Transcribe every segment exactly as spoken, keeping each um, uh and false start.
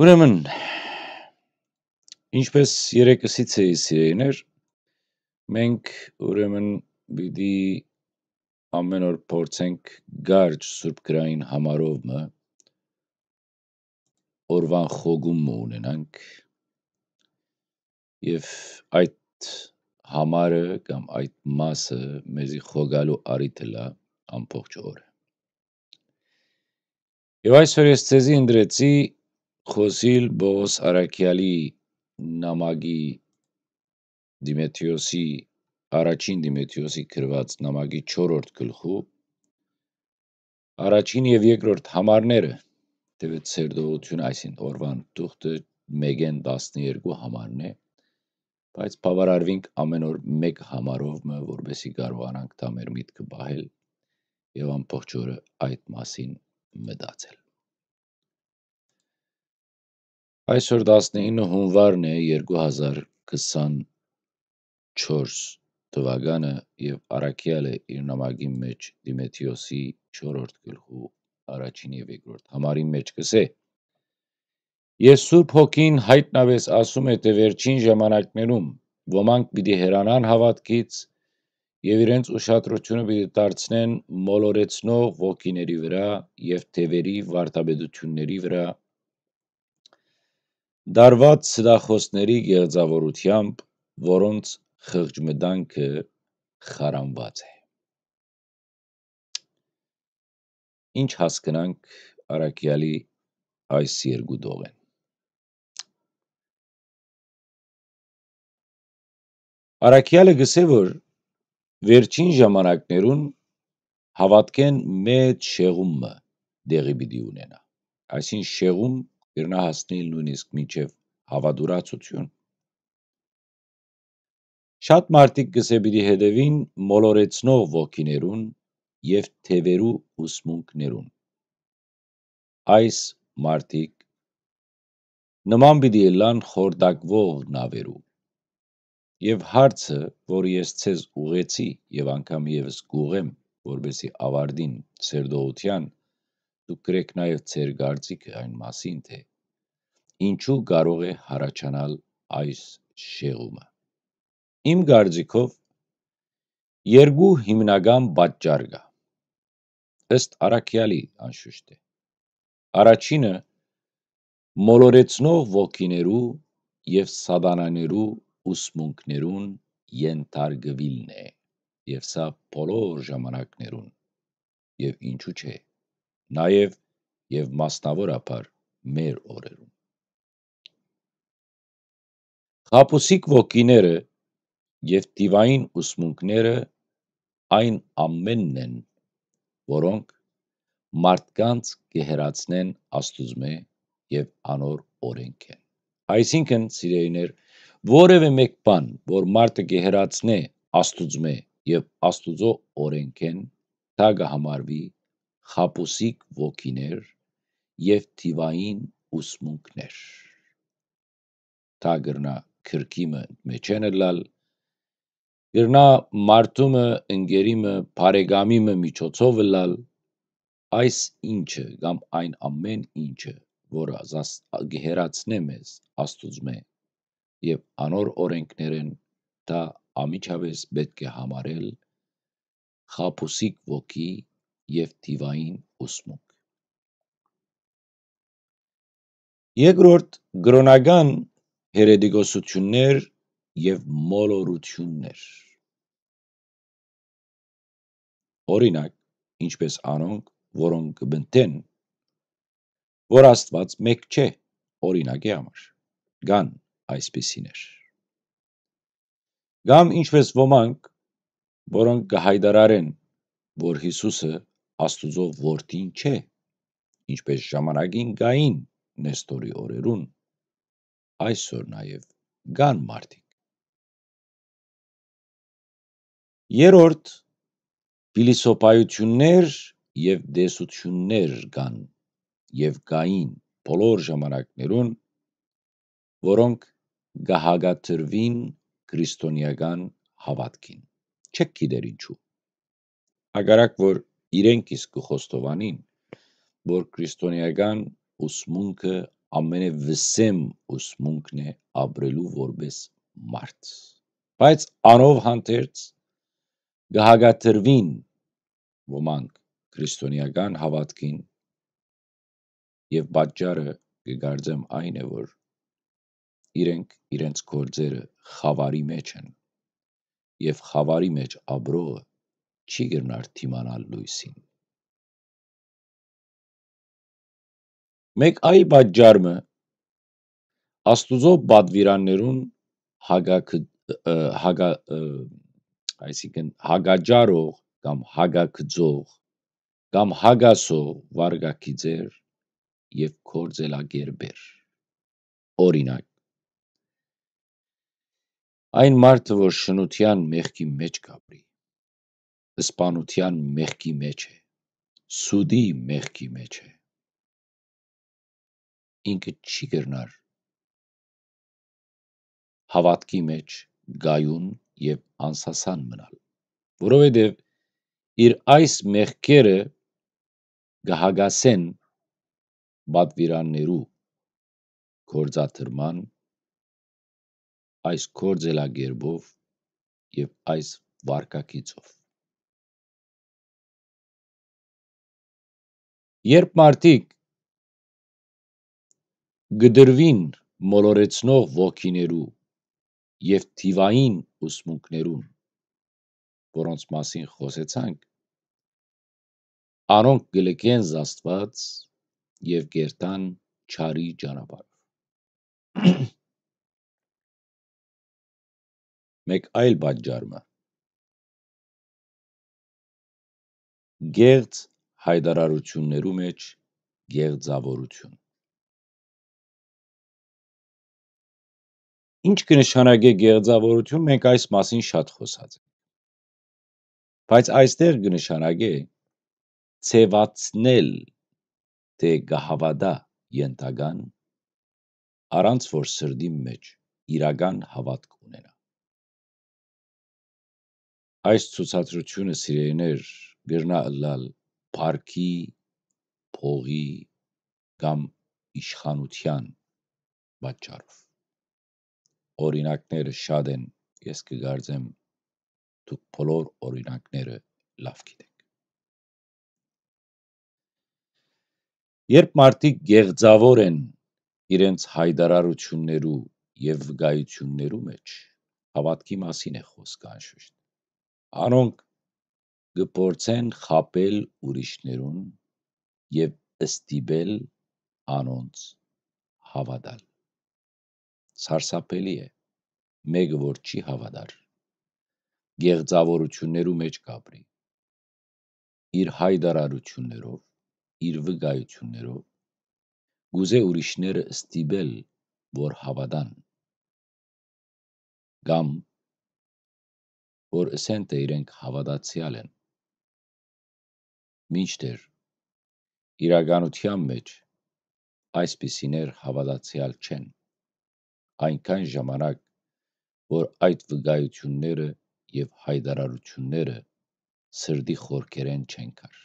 Ուրեմն, ինչպես երեկ ըսից էի, սիրելիներ, մենք, ուրեմն, պիտի ամեն օր փորձենք կարճ սուրբ գրային համարով մը օրուան խոգում մը ունենանք, եւ այդ համարը կամ այդ մասը մեզի խոգալու առիթ ըլլայ ամբողջ օրը։ Եւ այսօր ես ձեզի ընտրեցի խօսիլ Պողոս Առաքեալի նամակի Դիմեթրիոսի, առաջին Դիմեթրիոսի գրուած նամակի չորրորդ գլխու առաջին եւ երկրորդ համարները, դեւետ սերտողութիւն, այսին օրուան թուղթը մէկէն տասներկու համարն է, բայց բաւարարուինք ամեն օր մէկ համարով մը, որպեսզի կարողանանք դա մեր միտքը պահել եւ ամբողջ օրը այդ մասին մտածել։ Այսօր տասնինը հունուարն է երկու հազար քսանչորս թուականը, եւ առաքեալը իր նամակին մէջ Դիմեթրիոսի չորրորդ գլխու առաջին եւ երկրորդ համարին մէջ կ'ըսէ. «Ես Սուրբ Հոգին յայտնապէս ասում է, թէ վերջին ժամանակներուն ոմանք պիտի հեռանան հաւատքից եւ իրենց ուշադրութիւնը պիտի դարձնեն մոլորեցնող ոգիների վրայ եւ թեւերի վարդապետութիւնների վրայ, դարաւած ստախօսների գեղձաւորութեամբ, որոնց խղճմտանքը խարանուած է»։ Ինչ հասկնանք առաքեալի այս երկու տողէն։ Առաքեալը կ'ըսէ, որ վերջին ժամանակներուն հաւատքէն մեծ շեղում մը տեղի պիտի ունենայ։ Այսինքն շեղում կրնայ հասնիլ նոյնիսկ մինչեւ հաւատուրացութիւն։ Շատ մարդիկ, կ'ըսէ, պիտի հետեւին մոլորեցնող ոգիներուն եւ թեւերու ուսմունքներուն։ Այս մարդիկ նման պիտի ըլլան խորտակուող նաւերու։ Եւ հարցը, որ ես ձեզ ուղղեցի եւ անգամ եւս կ'ուղղեմ, որպեսզի աւարտին ձեր դողութեան, դուք կրէք նաեւ ձեր կարծիքը այն մասին, թէ ինչու կարող է յառաջանալ այս շեղումը։ Իմ կարծիքով, երկու հիմնական պատճառ կայ, ըստ առաքեալի, անշուշտ է։ Առաջինը, մոլորեցնող ոգիներու եւ սատանաներու ուսմունքներուն ենթարկուիլն է, եւ սա բոլոր ժամանակներուն, եւ ինչու՞ չէ, նաեւ եւ մասնաւորաբար մեր օրերուն։ Խաբուսիկ ոգիները եւ դիւային ուսմունքները այն ամենն են, որոնք մարդկանց կը հեռացնեն Աստուծմէ եւ անոր օրէնքէն։ Այսինքն, սիրելիներ, որեւէ մէկ բան, որ մարդը կը հեռացնէ Աստուծմէ եւ Աստուծոյ օրէնքէն, դա կը համարուի խաբուսիկ ոգիներ եւ դիւային ուսմունքներ։ Դա կրնայ քրկի մը մէջէն ըլլալ, կրնայ մարդու մը, ընկերի մը, բարեկամի մը միջոցով ըլլալ, այս ինչը կամ այն ամեն ինչը, որը զաս-, կը հեռացնէ մեզ Աստուծմէ եւ անոր օրէնքներէն, դա անմիջապէս պէտք է համարել խաբուսիկ ոգի եւ դիւային ուսմունք։ Երկրորդ, կրօնական հերետիկոսություններ եւ մոլորություններ։ Օրինակ, ինչպես անոնք, որոնք կը պնդեն, որ Աստուած մէկ չէ, օրինակի համար, կան այսպիսիներ։ Կամ ինչպես ոմանք, որոնք կը յայտարարեն, որ Յիսուսը Աստուծոյ որդին չէ, ինչպես ժամանակին կային Նեստորի օրերուն, այսօր նաեւ կան մարդիկ։ Երրորդ, փիլիսոփայություններ եւ տեսություններ կան եւ կային բոլոր ժամանակներուն, որոնք կը հակադրուին քրիստոնեական հաւատքին։ Չեք գիտեր ինչու։ Հակառակ որ իրենք իսկ կը խոստովանին, որ քրիստոնեական ուսմունքը ամենեւսեմ ուսմունքն է ապրելու որպէս մարդ։ Բայց անով հանդերձ կը հակադրուին ոմանք քրիստոնէական հաւատքին, եւ պատճառը կը կարծեմ այն է, որ իրենք իրենց գործերը խաւարի մէջ են, եւ խաւարի մէջ ապրողը չի կրնար դիմանալ լոյսին։ Մեկ այլ պատճառ մը, Աստուծոյ պատուիրաններուն հակակը-, ը, հակա-, ը, այսինքն հակաճառող կամ հակագծող կամ հակասող վարկագիծեր եւ գործելակերպեր։ Օրինակ, այն մարդը, որ շնութեան մեղքի մէջ կ'ապրի, սպանութեան մեղքի մէջ է, սուտի մեղքի մէջ է, ինքը չի կրնար հաւատքի մէջ կայուն եւ անսասան մնալ, որովհետեւ իր այս մեղքերը կը հակասեն պատուիրաններու գործադրման այս գործելակերպով եւ այս վարկագիծով։ Երբ մարդիկ կը դրուին մոլորեցնող ոգիներու եւ թիվային ուսմունքներուն, որոնց մասին խօսեցանք, անոնք կը լքեն Աստուած եւ կ'երթան չարի ճանապարհ։ Մեկ այլ պատճառ մը։ Գեղձ յայտարարութիւններու մէջ գեղձաւորութիւն։ Ինչ կը նշանակէ գեղձաւորութիւն, մենք այս մասին շատ խօսած ենք։ Բայց այստեղ կը նշանակէ ձեւացնել, թէ կը հաւատայ ենթական, առանց որ սրտին մէջ իրական հաւատք ունենայ։ Այս ցուցադրութիւնը, սիրելիներ, կրնայ ըլլալ փառքի, փողի կամ իշխանութեան պատճառով։ Օրինակները շատ են, ես կը կարծեմ, դուք բոլոր օրինակները լաւ գիտէք։ Երբ մարդիկ գեղձաւոր են իրենց յայտարարութիւններու եւ վկայութիւններու մէջ, հաւատքի մասին է խօսքը անշուշտ։ Անոնք կը փորձեն խաբել ուրիշներուն եւ ստիպել անոնց հաւատալ։ Սարսափելի է, մէկը որ չի հաւատար, գեղձաւորութիւններու մէջ կ'ապրի, իր յայտարարութիւններով, իր վկայութիւններով, կ'ուզէ ուրիշները ստիպել, որ հաւատան, կամ որ ըսեն թէ իրենք հաւատացեալ են։ Մինչդեռ իրականութեան մէջ այսպիսիներ հաւատացեալ չեն, այնքան ժամանակ, որ այդ վկայութիւնները եւ յայտարարութիւնները սրտի խորքերէն չեն գար։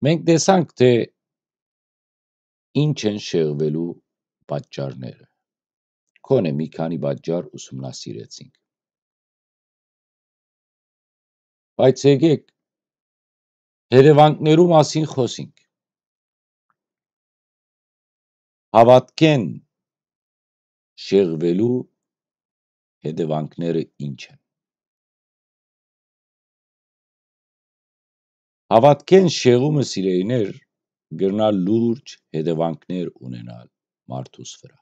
Մենք տեսանք թէ ինչ են շեղուելու պատճառները։ Քոնէ մի քանի պատճառ ուսումնասիրեցինք։ Բայց եկէք հետեւանքներու մասին խօսինք։ Հաւատքէն շեղուելու հետեւանքները ինչ են։ Հաւատքէն շեղումը, սիրելիներ, կրնայ լուրջ հետեւանքներ ունենալ մարդուս վրայ։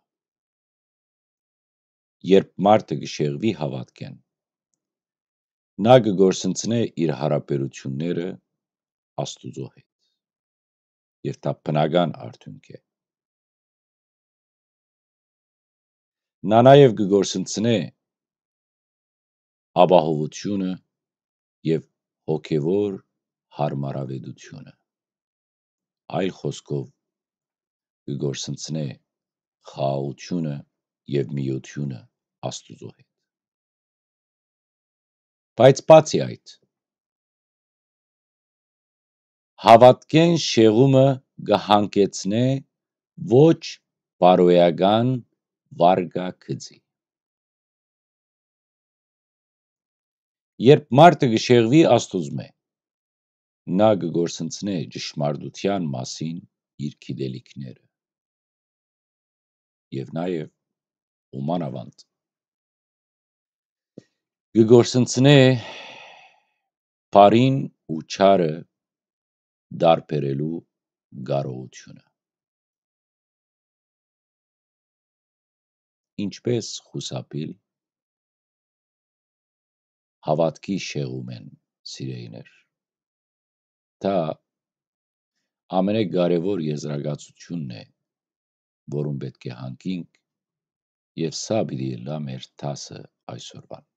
Երբ մարդը կը շեղուի հաւատքէն, նա կը կորսնցնէ իր յարաբերութիւնները Աստուծոյ հետ, եւ դա բնական արդիւնք է։ Նա նաեւ կը կորսնցնէ ապահովութիւնը եւ հոգեւոր յարմարաւետութիւնը։ Այլ խօսքով, կը կորսնցնէ խաղաղութիւնը եւ միութիւնը Աստուծոյ հետ։ Բայց բացի այդ, Հաւատքէն շեղումը կը յանգեցնէ ոչ բարոյական վարկագծի։ Երբ մարդը կը շեղուի Աստուծմէ, նա կը կորսնցնէ ճշմարտութեան մասին իր գիտելիքները եւ նաեւ ու մանաւանդ կը կորսնցնէ բարին ու չարը տարբերելու կարողութիւնը։ Ինչպէս խուսափիլ հաւատքի շեղումէն, սիրեիներ։ Դա ամենակարեւոր եզրակացութիւնն է, որուն պէտք է յանգինք, եւ սա պիտի ըլլայ մեր դասը այսօրուան։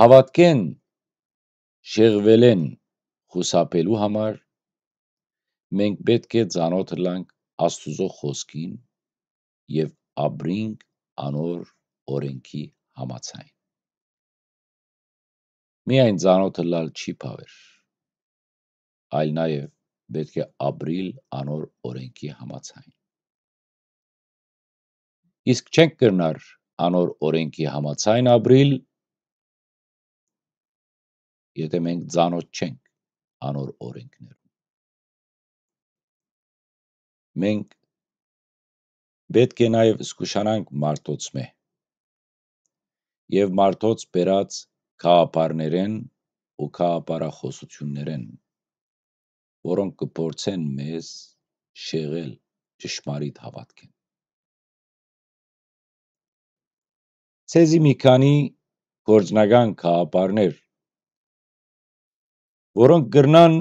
Հաւատքէն շեղուելէն խուսափելու համար մենք պէտք է ծանօթ ըլլանք Աստուծոյ խօսքին եւ ապրինք անոր օրէնքի համաձայն։ Միայն ծանօթ ըլլալ չի բաւեր, այլ նաեւ պէտք է ապրիլ անոր օրէնքի համաձայն։ Իսկ չենք կրնար անոր օրէնքի համաձայն ապրիլ, եթէ մենք ծանօթ չենք անոր օրէնքներուն։ Մենք պէտք է նաեւ զգուշանանք մարդոցմէ եւ մարդոց բերած գաղափարներէն ու գաղափարախօսութիւններէն, որոնք կը փորձեն մեզ շեղել ճշմարիտ հաւատքէն։ Ձեզի մի քանի գործնական գաղափարներ, որոնք կրնան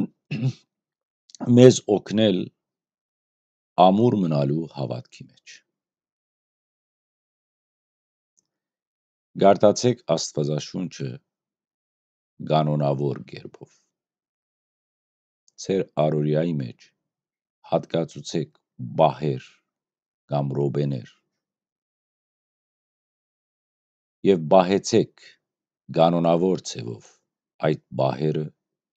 մեզ օգնել ամուր մնալու հաւատքի մէջ։ Կարդացէք Աստուածաշունչը կանոնաւոր կերպով։ Ձեր առօրեայի մէջ յատկացուցէք պահեր կամ րոպեներ եւ պահեցէք կանոնաւոր ձեւով այդ պահերը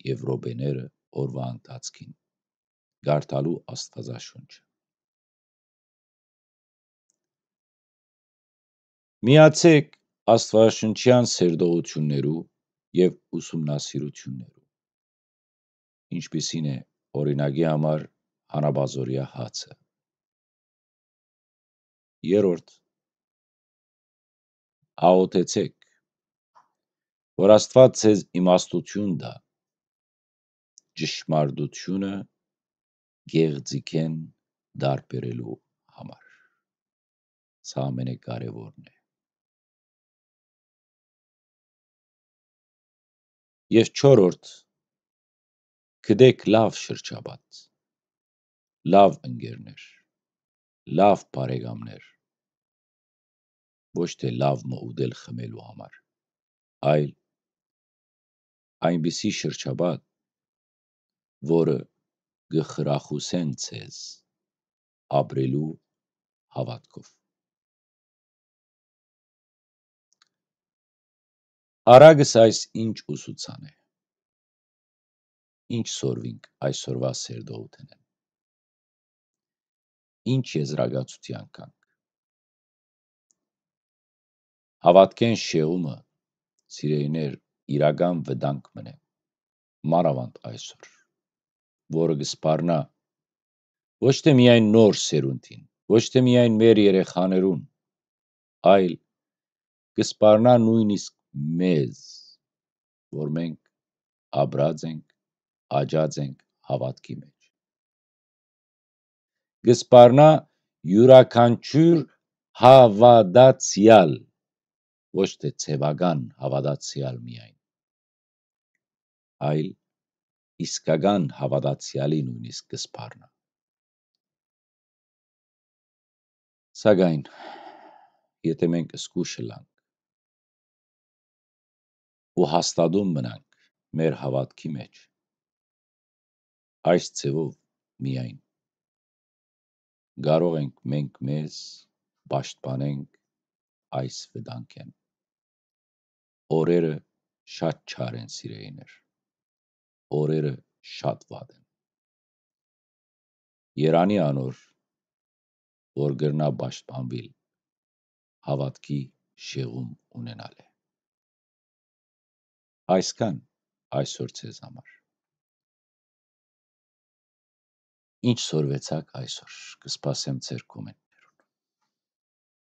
եւ րոպեները օրուայ ընթացքին կարդալու Աստուածաշունչը։ Միացէք Աստուածաշունչեան սերտողութիւններու եւ ուսումնասիրութիւններու, ինչպիսին է, օրինակի համար, հանապազօրեայ հացը։ Երրորդ, աղօթեցէք, որ Աստուած ձեզ իմաստութիւն տայ ճշմարտութիւնը գեղձիկէն տարբերելու համար։ Սա ամենակարեւորն է։ Եւ չորրորդ, գտեք լաւ շրջապատ, լաւ ընկերներ, լաւ բարեկամներ, ոչ թէ լաւ մը ուտել խմելու համար, այլ այնպիսի շրջապատ, որը կը խրախուսեն ձեզ ապրելու հաւատքով։ Արագս այս ինչ ուսուցան է, ինչ սորվինք այսօրուայ սերտողութենէն, ինչ եզրակացութեան գանք։ Հաւատքէն շեղումը, սիրելիներ, իրական վտանգ մըն է, մանաւանդ այսօր, որը կը սպառնայ ոչ թէ միայն նոր սերունդին, ոչ թէ միայն մեր երեխաներուն, այլ կը սպառնայ նոյնիսկ մեզ, որ մենք ապրած ենք, աճած ենք հաւատքի մէջ։ Կը սպառնայ իւրաքանչիւր հաւատացեալ, ոչ թէ ձեւական հաւատացեալ միայն, այլ իսկական հաւատացեալի նոյնիսկ կը սպառնայ։ Սակայն, եթէ մենք զգուշ ըլանք ու հաստատուն մնանք մեր հաւատքի մէջ, այս ձեւով միայն կարող ենք մենք մեզ պաշտպանենք այս վտանգէն։ Օրերը շատ չար են, սիրեիներ։ Օրերը շատ վատ են։ Երանի անոր, որ կրնայ պաշտպանուիլ հաւատքի շեղում ունենալէ։ Այսքան այսօր ձեզ համար։ Ինչ սորվեցաք այսօր, կը սպասեմ ձեր կոմենտները։